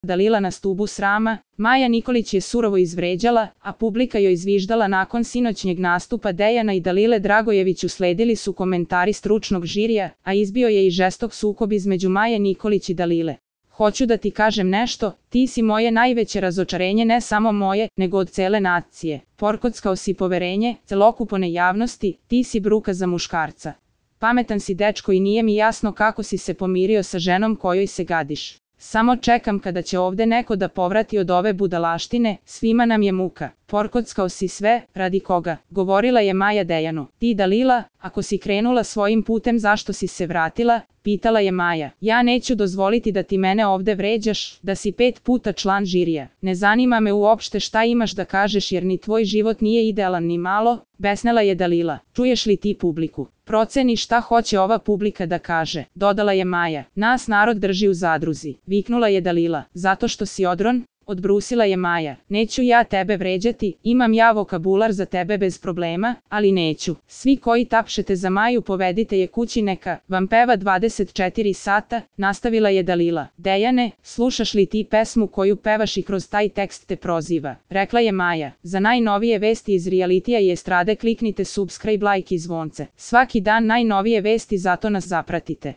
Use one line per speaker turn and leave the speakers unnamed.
Dalila na stubu srama, Maja Nikolić je surovo izvređala, a publika joj izviždala. Nakon sinoćnjeg nastupa Dejana i Dalile Dragojević usledili su komentari stručnog žirija, a izbio je i žestok sukob između Maje Nikolić i Dalile. Hoću da ti kažem nešto, ti si moje najveće razočarenje, ne samo moje, nego od cele nacije. Porkockao si poverenje celokupne javnosti, ti si bruka za muškarca. Pametan si dečko i nije mi jasno kako si se pomirio sa ženom kojoj se gadiš. Samo čekam kada će ovde neko da povrati od ove budalaštine, svima nam je muka. Porkockao si sve, radi koga? Govorila je Maja Dejanu. Ti Dalila, ako si krenula svojim putem zašto si se vratila? Pitala je Maja. Ja neću dozvoliti da ti mene ovde vređaš, da si 5 puta član žirija. Ne zanima me uopšte šta imaš da kažeš jer ni tvoj život nije idealan ni malo, besnela je Dalila. Čuješ li ti publiku? Proceni šta hoće ova publika da kaže, dodala je Maja. Nas narod drži u zadruzi, viknula je Dalila. Zato što si odron? Odbrusila je Maja. Neću ja tebe vređati, imam ja vokabular za tebe bez problema, ali neću. Svi koji tapšete za Maju povedite je kući neka vam peva 24 sata, nastavila je Dalila. Dejane, slušaš li ti pesmu koju pevaš i kroz taj tekst te proziva? Rekla je Maja. Za najnovije vesti iz realitija i estrade kliknite subscribe, like i zvonce. Svaki dan najnovije vesti, zato nas zapratite.